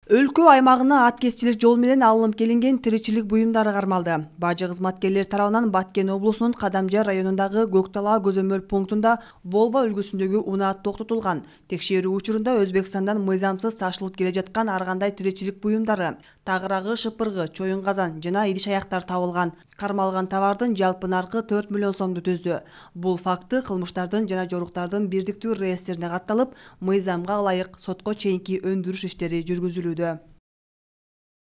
Өлкө аймагына аткезчилик жол менен алынып келинген тиричилик буюмдары кармалды. Бажы кызматкерлер тарабынан Баткен облусунун Кадамжар районундагы Көктала көзөмөл пунктунда Волва үлгүсүндөгү унаат токтотулган. Текшерүү учурунда Өзбекстандан мыйзамсыз ташылып келе жаткан ар кандай тиричилик буюмдары, тагырагы, шыпыргы, чоюн казан жана идиш аяктар табылган. Кармалган товардын жалпы наркы 4 миллион сомду түздү. Бул факты кылмыштардын жана жоруктардын бирдиктүү реестрине катталып, мыйзамга ылайык сотко чейинки өндүрүш иштери жүргүзүлүүдө.